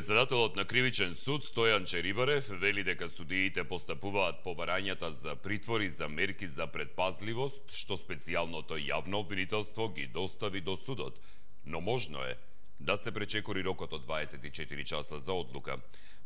Председателот на Кривичен суд Стојан Черибарев вели дека судиите постапуваат по барањата за притвори за мерки за предпазливост, што специјалното јавно обвинителство ги достави до судот, но можно е да се пречекори рокот од 24 часа за одлука.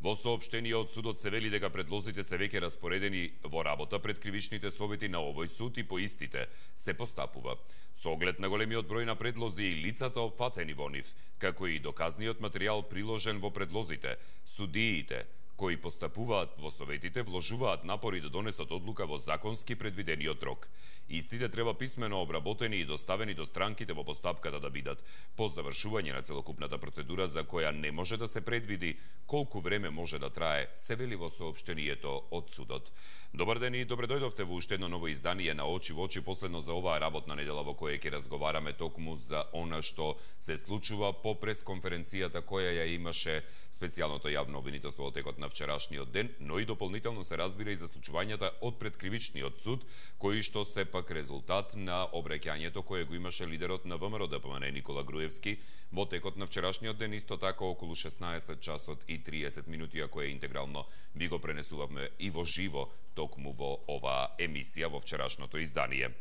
Во соопштение од судот се вели дека предлозите се веќе распоредени во работа пред кривичните совети на овој суд и по истите се постапува. Со оглед на големиот број на предлози и лицата опфатени во нив, како и доказниот материјал приложен во предлозите, судиите кои постапуваат во советите вложуваат напори да донесат одлука во законски предвидениот рок. Истите треба писмено обработени и доставени до странките во постапката да бидат по завршување на целокупната процедура за која не може да се предвиди колку време може да трае, се вели во соопштението од судот. Добар ден и добре дојдовте во уште едно ново издание на Очи во очи, последно за оваа работна недела во која ќе разговараме токму за она што се случува по пресконференцијата која ја имаше специјалното јавно обвинителство во текот на вчерашниот ден, но и дополнително се разбира и за случувањата од пред кривичниот суд, кои што се пак резултат на обраќањето кое го имаше лидерот на ВМРО-ДПМН Никола Груевски во текот на вчерашниот ден, исто така околу 16 часот и 30 минути, а кое интегрално ви го пренесувавме и во живо токму во оваа емисија во вчерашното издание.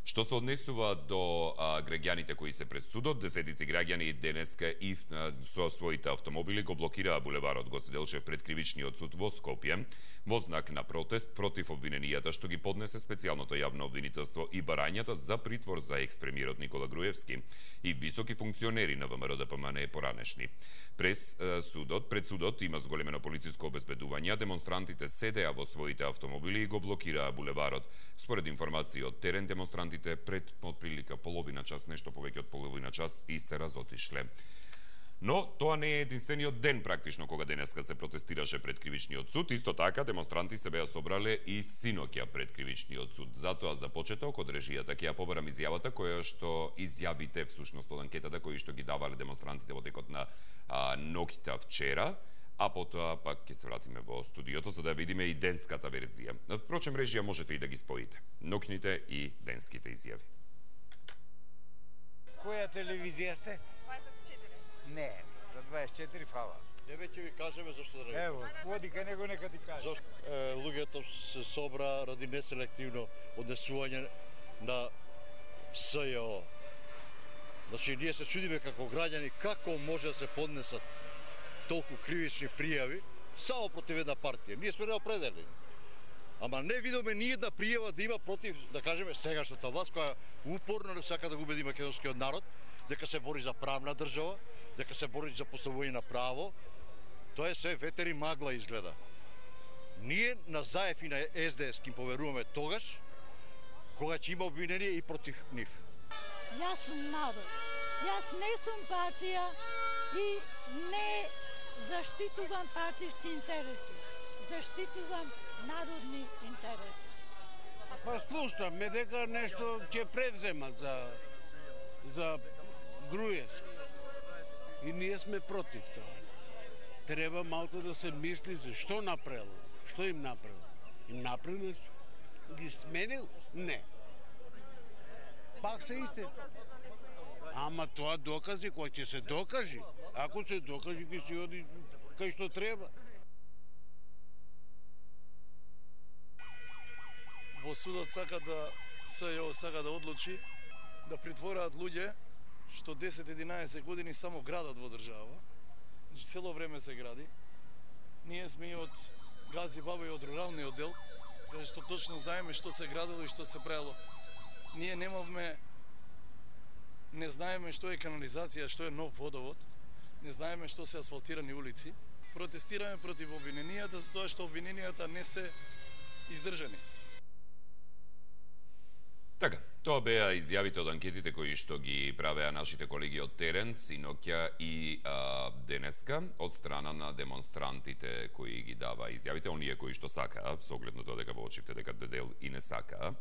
Што се однесува до граѓаните кои се пред судот, десетици граѓани денеска и со своите автомобили го блокираа булеварот Гоце Делчев пред кривичниот суд во Скопје во знак на протест против обвиненијата што ги поднесе специјалното јавно обвинителство и барањата за притвор за екс-премиерот Никола Груевски и високи функционери на ВМРО-ДПМН поранешни. Пред судот има зголемено полициско обезбедување, демонстрантите седеа во своите автомобили и го блокираа булеварот. Според информации од терен, демонстрантите пред отприлика половина час, нешто повеќе од половина час, и се разотишле. Но тоа не е единствениот ден практично кога денеска се протестираше пред кривичниот суд. Исто така демонстранти се беа собрале и синоќа пред кривичниот суд. Затоа за почеток од режијата ќе ја побарам изјавата која што изјавите всушност од анкетата кои што ги давале демонстрантите во текот на ноќта вчера, а потоа пак ќе се вратиме во студиото за да видиме и денската верзија. Впрочем, режија можете и да ги споите. Ноќните и денските изјави. Која телевизија сте? 24. Не, за 24 фала. Еве ќе ви кажеме зашто да не. Ево, води кај него нека ти каже. Зашто луѓето се собра ради неселективно однесување на СЈО. Значи, ние се чудиме како граѓани како може да се поднесат толку кривични пријави само против една партија. Ние сме неопределени. Ама не видиме ни една пријава да има против, да кажеме, сегашната власт која упорно не сака да го убеди македонскиот народ дека се бори за правна држава, дека се бори за поставување на право. Тоа е се ветер и магла изгледа. Ние на ЗАЕФ и на СДС ќе поверуваме тогаш кога ќе има обвинение и против нив. Јас сум народ. Јас не сум партија и не заштитувам партиски интереси. Заштитувам народни интереси. Па слушаме дека нешто ќе превземат за Груевски. И ние сме против тоа. Треба малку да се мисли за што направил. Што им направил? Им направил, ги сменил? Не. Пак се исти. Ама тоа докази, кој ќе се докажи. Ако се докажи, ќе се оди кај што треба. Во судот сака да СЈО сака да одлучи да притвораат луѓе што 10-11 години само градат во држава. Значи цело време се гради. Ние сме и од Гази Баба и од руралниот дел, каде што точно знаеме што се градило и што се правило. Ние не знаеме што е канализација, што е нов водовод, не знаеме што се асфалтирани улици. Протестираме против обвиненијата затоа што обвиненијата не се издржани. Така, тоа беа изјавите од анкетите кои што ги правеа нашите колеги од терен, синоќа и денеска, од страна на демонстрантите кои ги дава изјавите, оние кои што сакаа, со оглед на тоа дека во очивте дека дедел и не сакаа,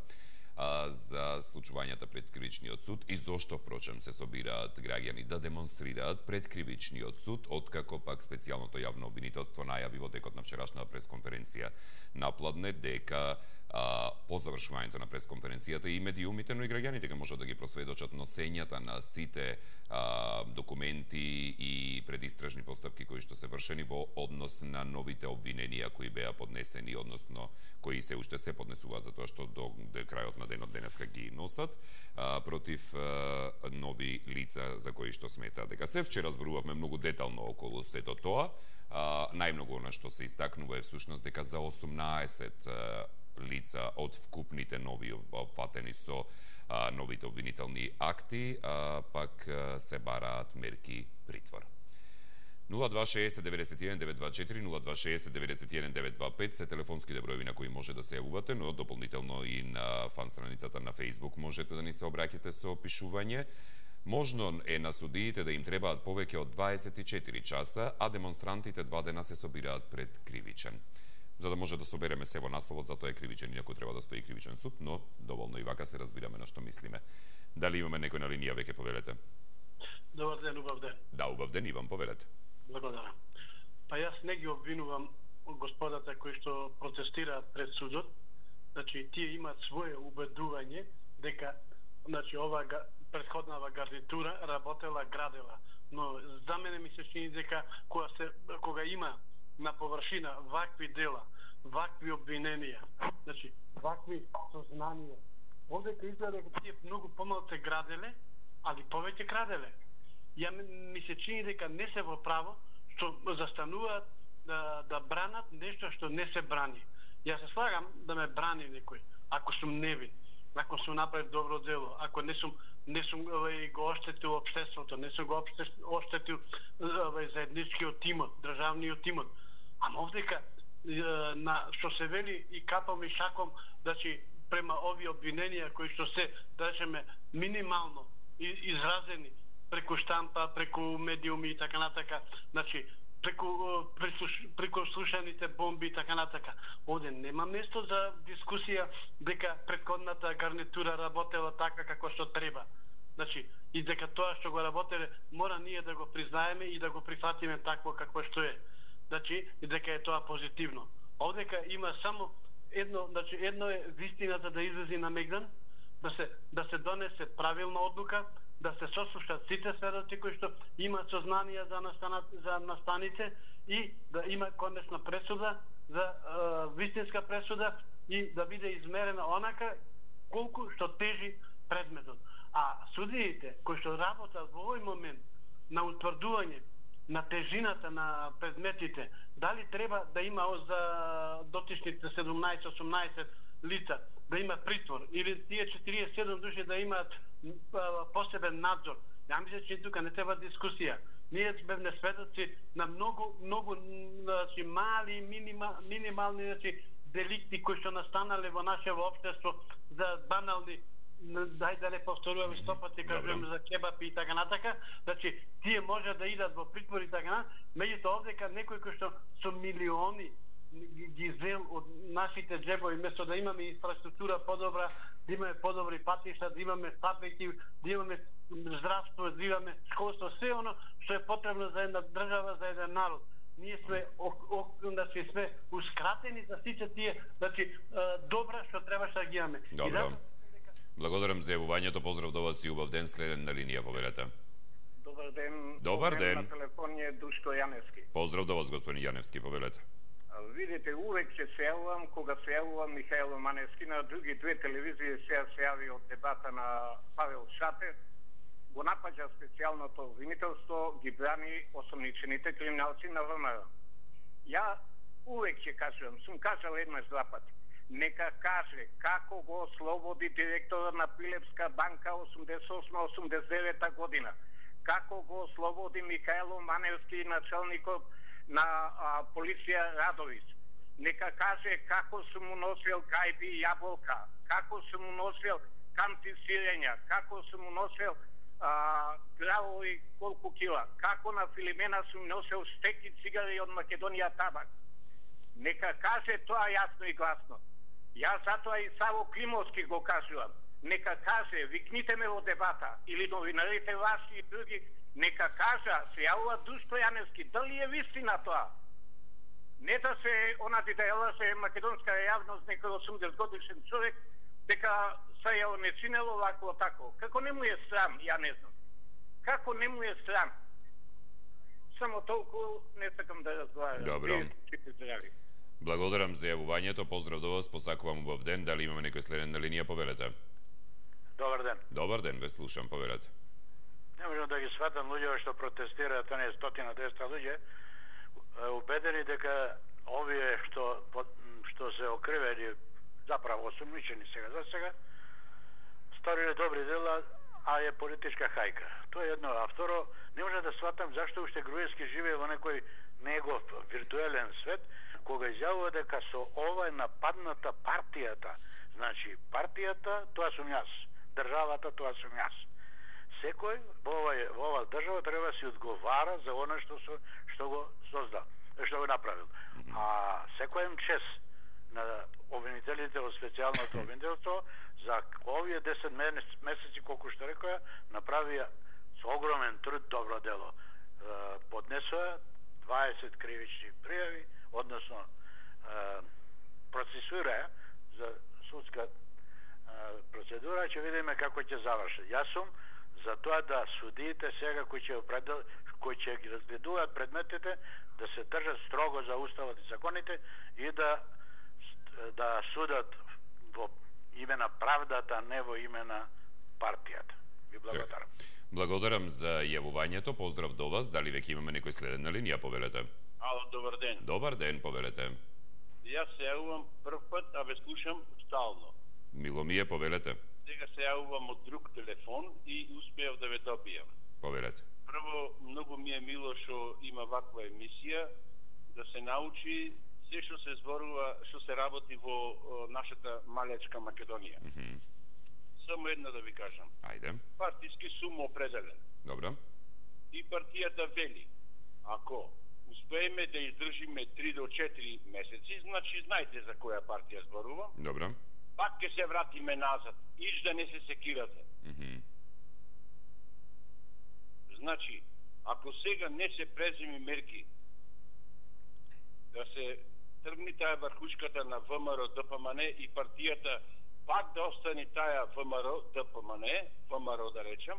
за случувањата пред кривичниот суд и зошто, впрочем, се собираат граѓани да демонстрираат пред кривичниот суд, откако пак специјалното јавно обвинителство најави во текот на вчерашната пресконференција напладне дека по завршувањето на пресконференцијата и медиумите, но и граѓаните ќе можат да ги просведочат носењата на сите документи и предистражни постапки кои што се вршени во однос на новите обвиненија кои беа поднесени, односно кои се уште се поднесуваат затоа што до крајот на денот денеска ги носат против нови лица за кои што сметаат дека се. Вчера зборувавме многу детално околу сето тоа. Најмногу на што се истакнува е всушност дека за 18 лица од вкупните нови опфатени со новите обвинителни акти, пак се бараат мерки притвор. 0260-91-924, 0260-91-925 се телефонските броеви на кои може да се јавувате, но дополнително и на фан страницата на Facebook можете да ни се обраќате со опишување. Можно е на судиите да им требаат повеќе од 24 часа, а демонстрантите 2 дена се собираат пред кривичен. За да може да собереме се во насловот, затоа е кривичен, иако треба да стои кривичен суд, но доволно и вака се разбираме на што мислиме. Дали имаме некој на линија, веќе повелете? Добар ден, убав ден. Да, убав ден, Иван, повелете. Благодарам. Па јас не ги обвинувам господата кои што протестираат пред судот. Значи, тие имаат свое убедување дека оваа претходнава гарнитура работела, градела. Но за мене ми се чини дека кога има на површина вакви дела, вакви обвиненија, значи вакви сознанија, овдека изгледа дека тие многу помалку граделе, али повеќе краделе. Ми се чини дека не се во право што застануваат да бранат нешто што не се брани. Јас се слагам да ме брани некој, ако сум невин, ако сум направил добро дело, ако не сум го оштетил општеството, не сум го оштетил заедничкиот имот, државниот имот. Ама овдека што се вели и капам и шаком, значи према овие обвиненија кои што се, да речеме, минимално изразени преку штампа, преку медиуми и така натака, значи преку слушаните бомби и така натака. Овде нема место за дискусија дека претходната гарнитура работела така како што треба. Значи, и дека тоа што го работеле, мора ние да го признаеме и да го прифатиме такво какво што е. Значи, и дека е тоа позитивно. Овдека има само едно, значи едно е вистината да излези на мегдан, да се донесе правилна одлука, да се сослушат сите сведоци кои што имаат сознанија за настаните и да има конечна пресуда, за вистинска пресуда и да биде измерена онака колку што тежи предметот. А судиите кои што работат во овој момент на утврдување на тежината на предметите, дали треба да има за дотичните 17-18 лица да има притвор или тие 47 души да имаат посебен надзор. Ја мислам че тука не треба дискусија. Ние сме сведоци на многу значи мали минимални деликти кои што настанале во нашето општество за банални, дај да не повторуваме 100 пати кажуваме за кебапи и така натака, значи тие може да идат во притвор и така, меѓутоа овдека некој кој што со милиони ги зел од нашите джебови, место да имаме инфраструктура подобра, да имаме подобри патишта, да имаме фабрики, да имаме здравство, да имаме школство, се оно што е потребно за една држава, за еден народ. Ние сме значи сме ускратени за сите тие, значи добра што требаше да ги имаме. Добро. Благодарам за јавувањето, поздрав до вас и убав ден, следен на линија, повелете. Добар ден. Добар ден. На телефон е Душко Јаневски. Поздрав до вас, господин Јаневски, повелете. Видите, увек се јавувам, кога се јавувам Михајло Маневски на други две телевизии се јави од дебата на Павел Шатев, го напаѓа специјалното обвинителство, ги брани осомничените криминалци на ВМРО. Ја увек ќе кажувам, сум кажал еднаш два пати, нека каже како го ослободи директорот на Пилепска банка 88-89 година, како го ослободи Михајло Маневски, началникот на полиција Радовиć. Нека каже како се му носил гајби и јаболка, како се му носил канти сирења, како се му носил гравови колку кила, како на Филимена се му носил стеки цигари од Македонија табак. Нека каже тоа јасно и гласно. Јас затоа и Саво Климовски го кажувам. Нека каже, викните ме во дебата, или новинарите ваши и други, нека кажа, се јавува Душко Јаневски, дали е вистина тоа? Не да се онати да елаше македонска јавност некој 80 годишен човек дека се ја онесинело вако тако. Како не му е срам, ја не знам. Како не му е срам? Само толку не сакам да разговарам. Добро. Благодарам за јавувањето, поздрав до вас, посакувам убав ден. Дали имаме некој следен на линија, повелете? Добар ден. Добар ден, ве слушам, повелете. Не можам да ги сватам луѓе што протестираат, не 100-200 луѓе, убедени дека овие што се окривени, заправо осумничени за сега, сториле добри дела, а е политичка хајка. Тоа е едно. А второ, не може да сватам зашто уште Груевски живее во некој негов виртуелен свет, кога изјавува дека со ова е нападната партијата. Значи, партијата, тоа сум јас. Државата, тоа сум јас. Секој во ова држава треба да си одговара за она што го создал, што го направил. А секој им чест на обвинителите во специјалното обвинителство за овие 10 месеци, колку што рекоја, направија со огромен труд добро дело. Поднесоа 20 кривични пријави, односно процесуираја за судска процедура, ќе видиме како ќе заврши. Јас сум за тоа да судиите сега кои ќе ги разгледуваат предметите да се држат строго за уставот и законите и да судат во име на правдата, не во име на партијата. Ви благодарам. Благодарам за јавувањето, поздрав до вас. Дали веќе имаме некој следен на линија, повелете? Ало, добар ден. Добар ден, повелете. Јас се јавувам прв пат, а ве слушам стално. Мило ми е, повелете. Сега се јавувам од друг телефон и успеав да ве добијам. Повелете. Прво, многу ми е мило што има ваква емисија, да се научи се што се зборува, што се работи во нашата малечка Македонија. Само една да ви кажам. Ајде. Партиски сум определен. Добро. И партијата вели, ако успееме да издржиме 3 до 4 месеци, значи знаете за која партија зборувам. Добро. Пак ќе се вратиме назад. Иш да не се секирате. Значи, ако сега не се преземи мерки да се тргни таа врхушката на ВМРО, ДПМН и партијата пак да остане таа ВМРО, ДПМН, ВМРО да речем,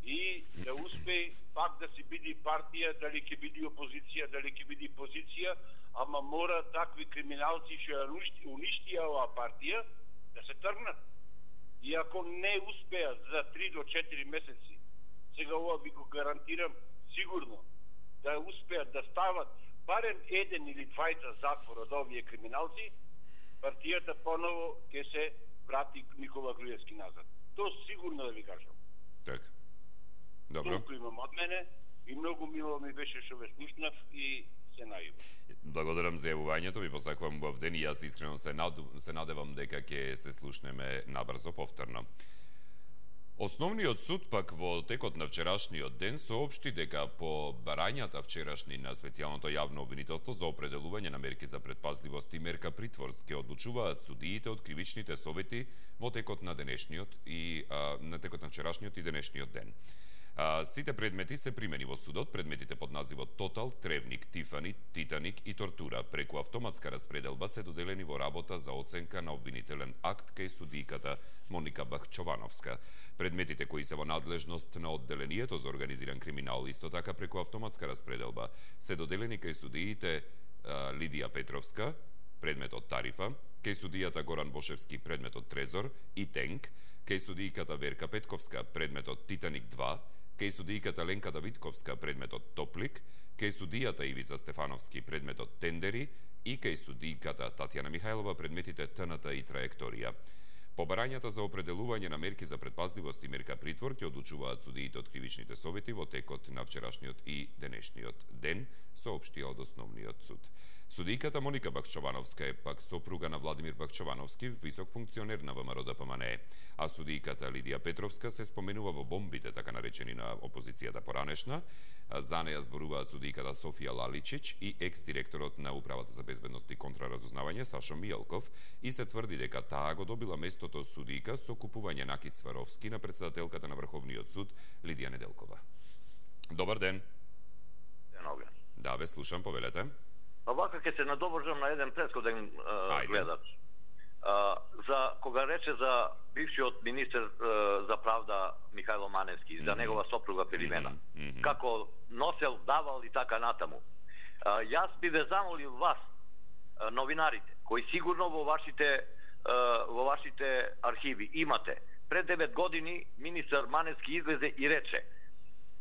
и да успее пак да се биде партија, дали ќе биде опозиција, дали ќе биде позиција, ама мора такви криминалци што ја уништија оваа партија да се тргнат. И ако не успеат за 3 до 4 месеци, сега ова би го гарантирам сигурно, да успеат да стават барем еден или двајца затвор од овие криминалци, партијата поново ќе се врати Никола Груевски назад. Тоа сигурно да ви кажам. Така. Добро. Толку имам од мене и многу мило ми беше што ве слушнав и се најубав. Благодарам за јавувањето, ви посакувам убав ден и јас искрено се надевам дека ќе се слушнеме набрзо повторно. Основниот суд пак во текот на вчерашниот ден соопшти дека по барањата вчерашни на специјалното јавно обвинителство за определување на мерки за предпазливост и мерка притвор ќе одлучуваат судиите од кривичните совети во текот на денешниот и на текот на вчерашниот и денешниот ден. Сите предмети се примени во судот, предметите под називот Тотал, Тревник, Тифани, Титаник и Тортура преку автоматска распределба се доделени во работа за оценка на обвинителен акт кај судијката Моника Бахчовановска. Предметите кои се во надлежност на одделението за организиран криминал исто така преку автоматска распределба се доделени кај судиите Лидија Петровска, предметот Тарифа, кај судијата Горан Бошевски, предметот Трезор и Тенк, кај судијката Верка Петковска, предметот Титаник 2, кај судијката Ленка Давидковска, предметот Топлик, кај судијата Ивица Стефановски, предметот Тендери и кај судијката Татјана Михајлова, предметите ТНТ и Траекторија. По барањата за определување на мерки за предпазливост и мерка притвор ќе одлучуваат судиите од кривичните совети во текот на вчерашниот и денешниот ден, соопштија од основниот суд. Судијката Моника Бахчовановска е пак сопруга на Владимир Бахчовановски, висок функционер на ВМРО ДПМН, а судијката Лидија Петровска се споменува во бомбите, така наречени на опозицијата поранешна. За неја зборуваа судијката Софија Лаличич и екс-директорот на Управата за безбедност и контраразузнавање Сашо Мијалков и се тврди дека таа го добила местото судијка со купување на Кит Сваровски на претседателката на Врховниот суд Лидија Неделкова. Добар ден. Ден, Оган. Да, ве слушам, повелете. вака ќе се надовржам на еден претходен гледач. За кога рече за бившиот министер за правда Михајло Маневски, за негова сопруга Филимена, како носел, давал и така натаму. Јас би ве замолил вас, новинарите, кои сигурно во вашите архиви имате. Пред 9 години министер Маневски излезе и рече,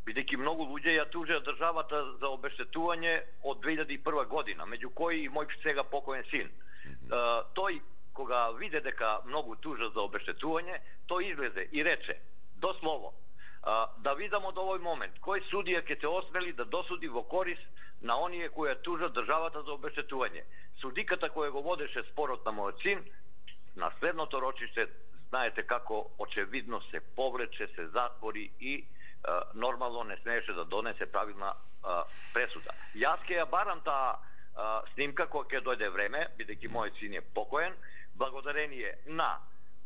бидејќи многу луѓе ја тужеа државата за обештетување од 2001 година, меѓу кои и мој сега покоен син. Тој, кога виде дека многу тужат за обештетување, тој излезе и рече, дослово, да видам од овој момент, кој судија ќе се осмели да досуди во корист на оние кои ја тужат државата за обештетување. Судиката која го водеше спорот на мојот син, на следното рочиште, знаете како очевидно се повлече, се затвори и нормално не смееше да донесе правилна пресуда. Јас ќе ја барам таа снимка кога ќе дојде време, бидејќи мојот син е покоен, благодарение на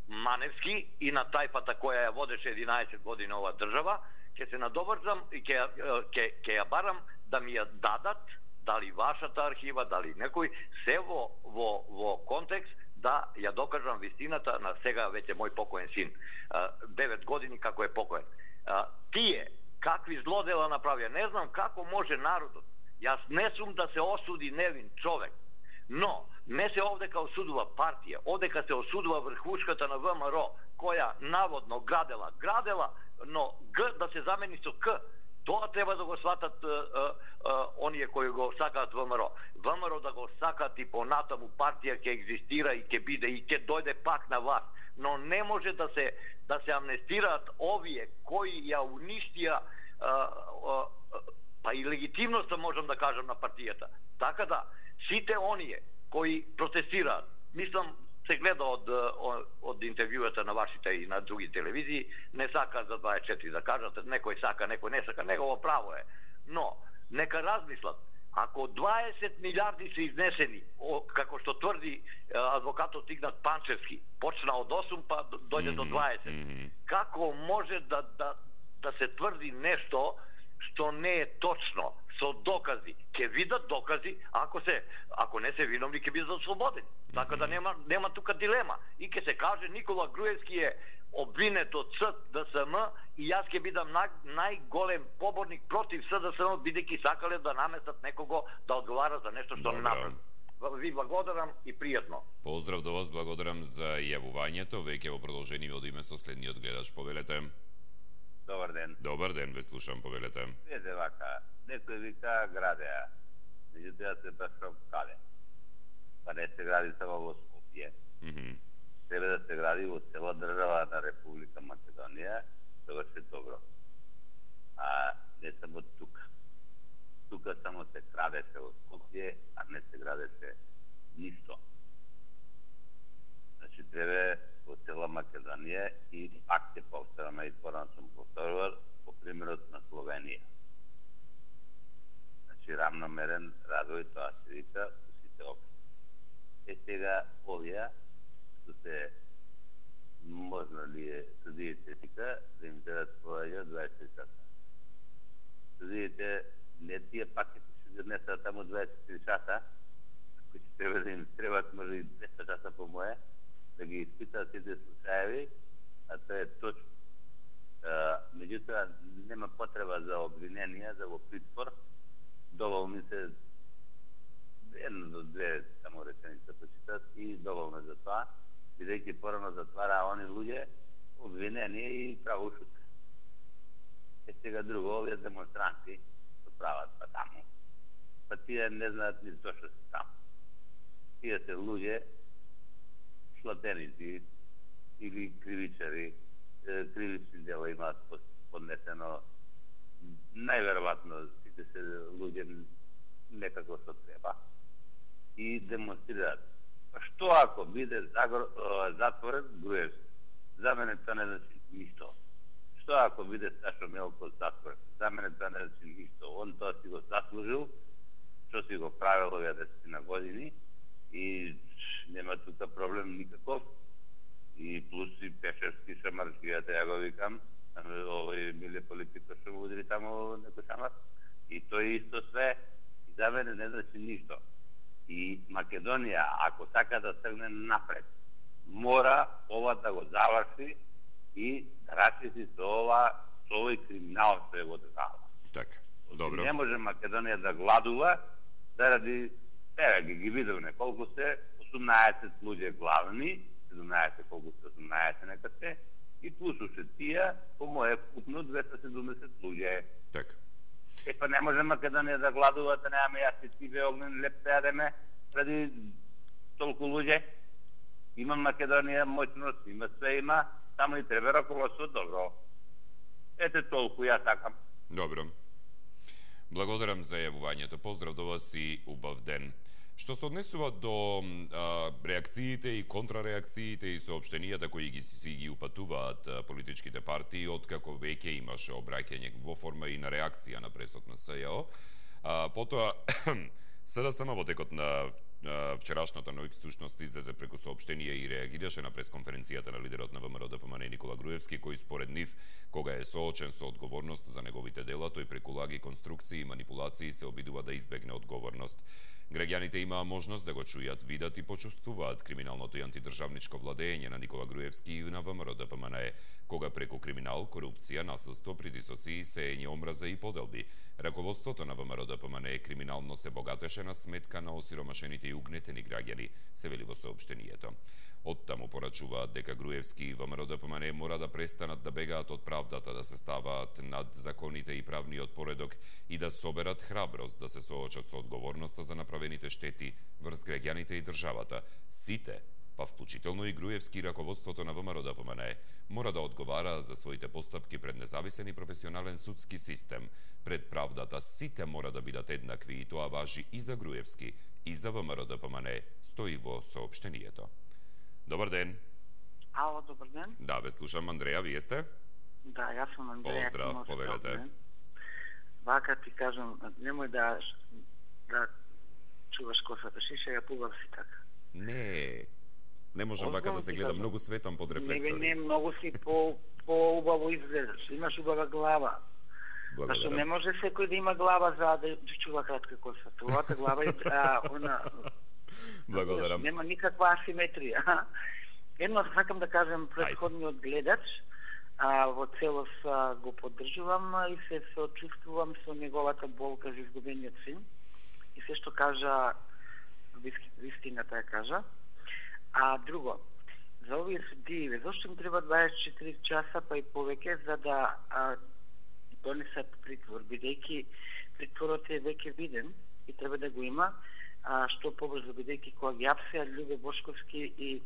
Маневски и на тајфата која ја водеше 11 години ова држава, ќе се надоврзам и ќе ја барам да ми ја дадат, дали вашата архива, дали некој, се во контекст да ја докажам вистината на сега веќе мој покоен син. 9 години како е покоен. Тие, какви злодела направија, не знам како може народот. Јас не сум да се осуди невин човек, но не се овдека осудува партија, овдека се осудува врхушката на ВМРО, која наводно градела, но Г да се замени со К. Тоа треба да го сватат оние кои го сакаат ВМРО. ВМРО да го сакаат и понатаму партија ќе екзистира и ќе биде и ќе дојде пак на власт. Но не може да се амнестираат овие кои ја уништија па и легитимноста, можам да кажам, на партијата. Така да, сите оние кои протестираат, мислам, се гледа од интервјуата на вашите и на други телевизии, не сакаат за 24 да кажат, некој сака, некој не сака, негово право е. Но, нека размислат, ако 20 милиарди се изнесени, како што тврди адвокатот Игнат Панчевски, почна од 8 па дојде до 20, како може да се тврди нешто што не е точно, со докази? Ќе видат докази, ако не се виновни, ќе бидат ослободени. Така да нема тука дилема. И ќе се каже Никола Груевски е обвинет од СДСМ и јас ќе бидам најголем поборник против СДСМ, бидејќи сакале да наместат некого да одговара за нешто што не направи. Ви благодарам и пријатно. Поздрав до вас, благодарам за јавувањето. Веќе во продолжение од име со следниот гледач, повелете. Добар ден. Добар ден, ве слушам, повелете. Видете вака, некој вика градеа, меѓутоа се башам каде. Па не се гради само во Скопје. Треба да се гради во цела држава на Република Македонија, тоа е добро. А не само тука. Тука само се крадеше во Скопје, а не се градеше ништо. Значи треба во цела Македонија и пак ќе повторам и порано сум повторувал по примерот на Словенија. Значи рамномерен развој, тоа се вика во сите општини. Сега овие што се можно ли е судиите вика да им дадат повеќе од 24 часа. Судиите не тие пак ќе се донесат таму 24 часа, кои ќе треба да им требат може и 200 часа по моје, да ги испитаат сите случаеви, а тоа е точно. Меѓутоа, нема потреба за обвиненија, за во притвор, доволни се едно до две само реченица почитат и доволно за тоа, бидејќи порано затвара они луѓе обвинени и правошутни. Сега друго, овие демонстранти што прават па таму, па тие не знаат ни зошто се таму. Тие се луѓе шлатеници или кривичари, кривични дела имаат поднесено, најверојатно сите се луѓе некако што треба и демонстрираат. Па што ако биде затворен Груевски? За мене тоа не значи ништо. Што ако биде Сашо Мелков затворен? За мене тоа не значи ништо. Он тоа си го заслужил, што си го правил овие 10 години и нема тука проблем никаков. И плюс и Пешевски шамарскијата, ја го викам, овој Миле Политико што го удри таму некој шамар. И тој исто све, и за мене не значи ништо. И Македонија, ако сака да тргне напред, мора ова да го заврши и да расчисти со овој криминал што е во држава. Така, добро. Не може Македонија да гладува заради ги видовме колку се 18 луѓе главни, 17 колку се 18 нека се, и плюс уште тие, по моје вкупно 270 луѓе. Така. Па не може Македонија да гладува, да немаме јас и ти Огнен леп да јадеме ради толку луѓе. Има Македонија моќност, има све има, само и треба раководство добро. Ете толку ја сакам. Добро. Благодарам за јавувањето. Поздрав до вас и убав ден. Што се однесува до реакциите и контрареакциите и соопштенијата кои ги упатуваат политичките партии, откако веќе имаше обраќање во форма и на реакција на пресот на СЈО, потоа СДСМ во текот на вчерашната ноќ всушност излезе преку соопштение и реагираше на пресконференцијата на лидерот на ВМРО ДПМН Никола Груевски, кој според нив, кога е соочен со одговорност за неговите дела, тој преку лаги, конструкции и манипулации се обидува да избегне одговорност. Граѓаните имаа можност да го чујат, видат и почувствуваат криминалното и антидржавничко владење на Никола Груевски и на ВМРО ДПМН, кога преку криминал, корупција, насилство, притисоци, сеење омраза и поделби, раководството на ВМРО ДПМН криминално се богатеше на сметка на осиромашените и угнетени граѓани, се вели во соопштението. Оттаму порачуваат дека Груевски и ВМРО ДПМН мора да престанат да бегаат од правдата, да се ставаат над законите и правниот поредок и да соберат храброст да се соочат со одговорноста за направените штети врз граѓаните и државата. Сите, па вклучително и Груевски и раководството на ВМРО ДПМН, мора да одговара за своите постапки пред независен и професионален судски систем. Пред правдата сите мора да бидат еднакви и тоа важи и за Груевски, и за ВМРО ДПМН, стои во соопштението. Добар ден. Ало, добар ден. Да, ве слушам, Андреја, вие сте? Да, јас сум Андреја. Поздрав, повелете. Вака ти кажам, немој да чуваш косата шиша, ја пубав си така. Не можам вака да се гледам, многу светам под рефлектори. Не, многу си по-убаво изгледаш, имаш убава глава. Зашто не може секој да има глава за да чува кратка коса. Твојата глава е Благодарам. Нема никаква асиметрија. Едно сакам да кажем претходниот гледач, во целост го поддржувам и се соочувствувам со неговата болка за изгубениот син. И се што кажа, вистината ја кажа. А друго, за овие судии, зашто им треба 24 часа па и повеќе за да донесат притвор, бидејќи притворот е веќе виден и треба да го има, што побрзо, бидејќи кога ги апсеа Љубе Бошковски и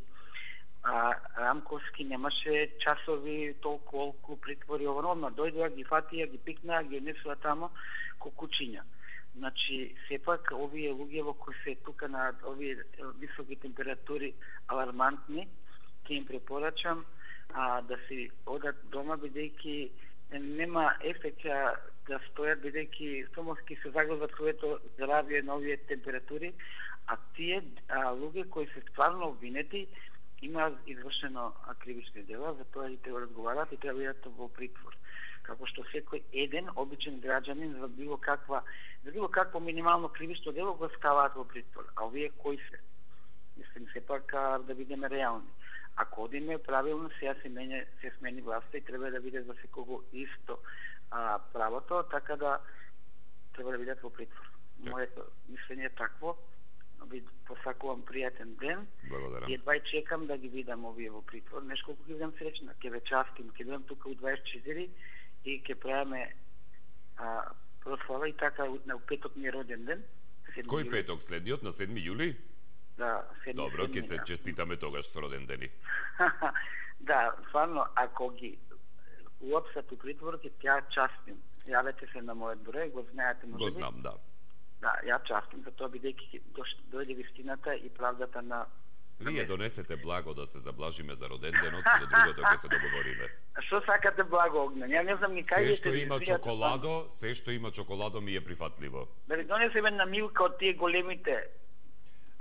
Рамковски немаше часови толку притвори, одма дојдоа, ги фатија, ги пикнаа, ги несуа тамо ко кучиња. Значи, сепак, овие луѓе во кои се тука на овие високи температури алармантни, ќе им препорачам да си одат дома, бидејќи нема ефекта да стојат, бидејќи сомоски се заглават своето здравје на овие температури, а тие луѓе кои се стварно обвинети имаат извршено кривични дела, затоа и треба да разговарат и треба да бидат во притвор. Како што секој еден обичен граѓанин за било какво минимално кривично дело го ставаат во притвор. А овие кои се? Мислим, сепак да бидеме реални. Ако одиме правилно, сега се смени власта и треба да биде за секого исто правото, така да треба да бидат во притвор. Моето мислење е такво. Ви посакувам пријатен ден. Благодарам. И едва чекам да ги видам овие во притвор. Нешколку ќе бидам среќна. Ќе ве частим, ќе бидам тука у 24 и ќе правиме прослава и така на петок ми е роден ден. Кој петок, следниот на 7 јули? Да, 7. Добро, ќе се честитаме тогаш со роден дени. Да, стварно, ако ги уопсат у притвор, ќе ја частим. Јавете се на мојот број, го знаете можеби. Го знам, да. Да, ја частим за тоа, бидејќи дојде вистината и правдата на... Вие донесете благо да се заблажиме за роден денот, за другото ќе се договориме. Што сакате благо, Огнен? Ја не знам ни кај се што има чоколадо ми е прифатливо. Да ви донесеме на Милка од тие големите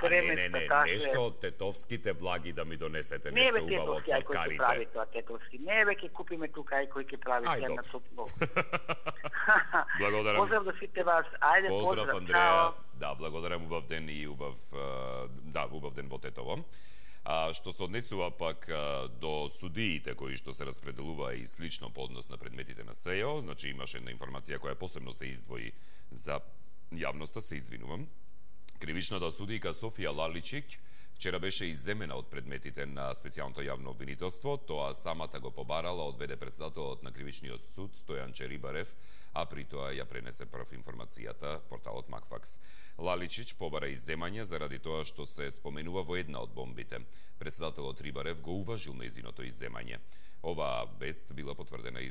не, нешто од тетовските благи да ми донесете, нешто убаво од сладкарите. Не, веќе купиме тука ај кој ќе прави сега на топло. Благодарам. Поздрав до сите вас. Ајде, поздрав, Андреја. Да, благодарам, убав ден и убав ден во Тетово. Што се однесува пак до судиите кои што се распределува и слично по однос на предметите на СЕО, значи имаше една информација која посебно се издвои за јавноста, се извинувам. Кривичната судијка Софија Лаличик вчера беше изземена од предметите на специјалното јавно обвинителство, тоа самата го побарала од ВД председателот на Кривичниот суд Стојан Черибарев, а при тоа ја пренесе прв информацијата порталот Макфакс. Лаличич побара изземање заради тоа што се споменува во една од бомбите. Председателот Рибарев го уважил нејзиното изземање. Оваа вест била потврдена и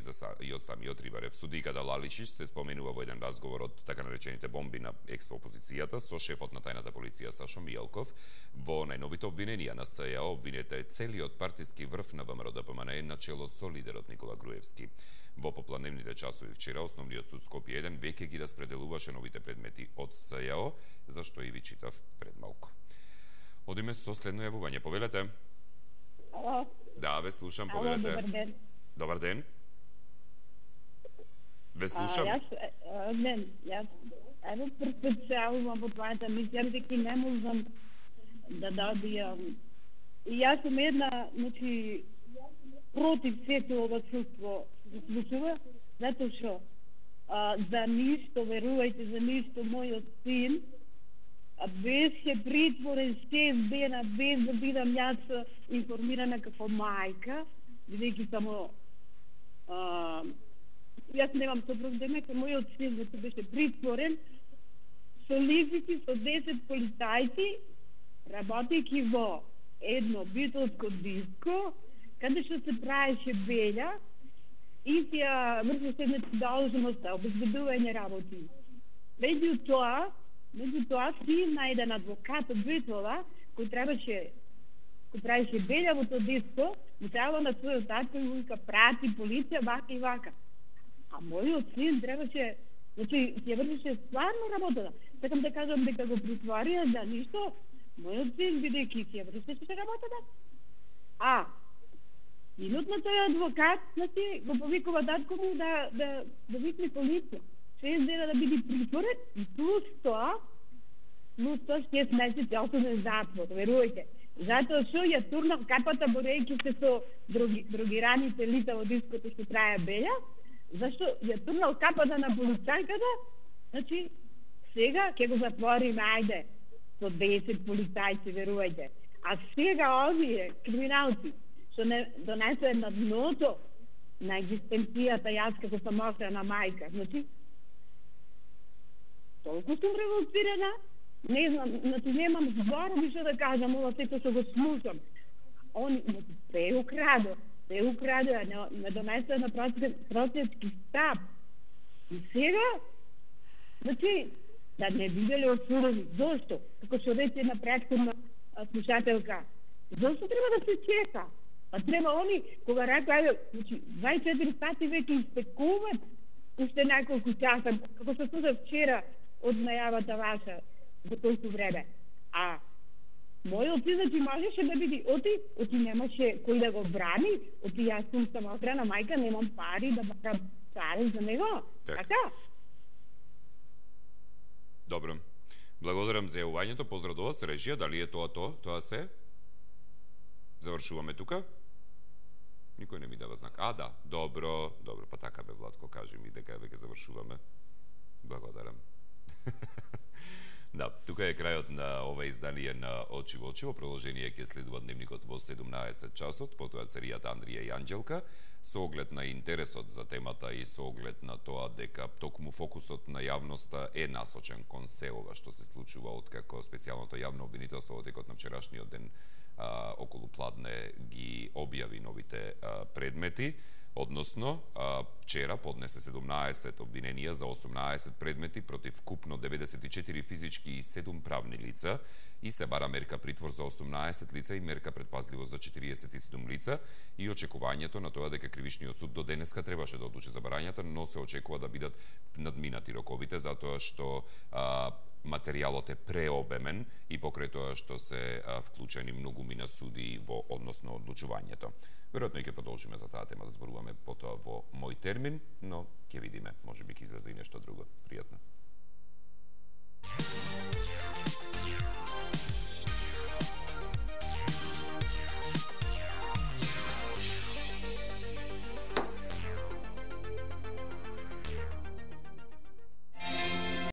од самиот Рибарев. Судиката Лаличич се споменува во еден разговор од така наречените бомби на експозицијата со шефот на тајната полиција Сашо Мијалков. Во најновите обвиненија на СЈА обвинете целиот партиски врв на ВМРО-ДПМНЕ начело со лидерот Никола Груевски. Во попладневните часови вчера Основниот суд Скопје 1 веќе ги распределуваше новите предмети од СЈА, за што и ви читав пред малку. Одиме со следно јавување. Повелете. Ало. Да, ве слушам, повелете. Добар ден. Добар ден. Ве слушам. Јас ево прв се јавувам во твојата мисија, дека не можам да добијам. И јас сум една, значи, против сето ова чувство се случува, затоа што за ништо, верувајте, за ништо мојот син беше притворен 6 дена без да бидам јас информирана како мајка, бидејќи само јас немам сопруг, дека мојот син беше притворен со лисици, со 10 полицајци, работејќи во едно битолско диско, каде што се правеше белја и ја вршеше должноста, обезбедување работи. Меѓутоа, син на еден адвокат од Битола, кој правеше белја во тоа диско, му требало на својот татко и вика прати полиција, вака и вака. А мојот син требаше, значи, ја вршеше стварно работата. Сакам да кажам дека го притворија за ништо, мојот син бидејќи ја вршеше работата. А синот на тој адвокат, значи, го повикува татко му да викне полиција. 6 дена да биде притворен и плюс тоа 6 месеци осуден затвор, верувајте. Затоа што ја турнав капата борејќи се со другираните лица во диското што трае белја, зашто ја турнав капата на полицајката, значи сега ќе го затвориме, ајде, со 10 полицајци, верувајте. А сега овие криминалци што не донесе на дното на екзистенцијата јас како самоохрана мајка, значи толку сум револцирана, не знам, значи немам зборови што да кажам, ова сето што го слушам. Он се украдо, не донесе на просечки стап. И сега, значи, да не биделе осудени. Зошто? Како што рече на претходна слушателка, зошто треба да се чека? А треба они, кога рекоа, значи, 24 сати веќе истекуват уште неколку часа, како што слушав вчера од најавата ваша во тој време. А мојот син, значи, можеше да биде оти немаше кој да го брани, оти јас сум самоохрана мајка, немам пари да бакам царен за него. Така? Добро. Благодарам за јавувањето, поздрав до вас, режија, дали е тоа се? Завршуваме тука? Никој не ми дава знак. А, да, добро, па така бе, Владко, кажи ми дека веќе завршуваме. Благодарам. Да, тука е крајот на ова издание на Очи во очи. Во продолжение ќе следува дневникот во 17 часот, потоа серијата Андрија и Анđелка, со оглед на интересот за темата и со оглед на тоа дека токму фокусот на јавноста е насочен кон се ова што се случува откако специјалното јавно обвинителство во текот на вчерашниот ден околу пладне ги објави новите предмети. Односно, вчера поднесе 17 обвиненија за 18 предмети против купно 94 физички и 7 правни лица и се бара мерка притвор за 18 лица и мерка предпазливост за 47 лица и очекувањето на тоа дека Кривичниот суд до денеска требаше да одлучи за барањата, но се очекува да бидат надминати роковите затоа што материјалот е преобемен и покрај тоа што се вклучени многумина суди во односно одлучувањето. Веројатно и ќе продолжиме за таа тема да зборуваме потоа во мој термин, но ќе видиме, можеби ќе излезе и нешто друго. Пријатно.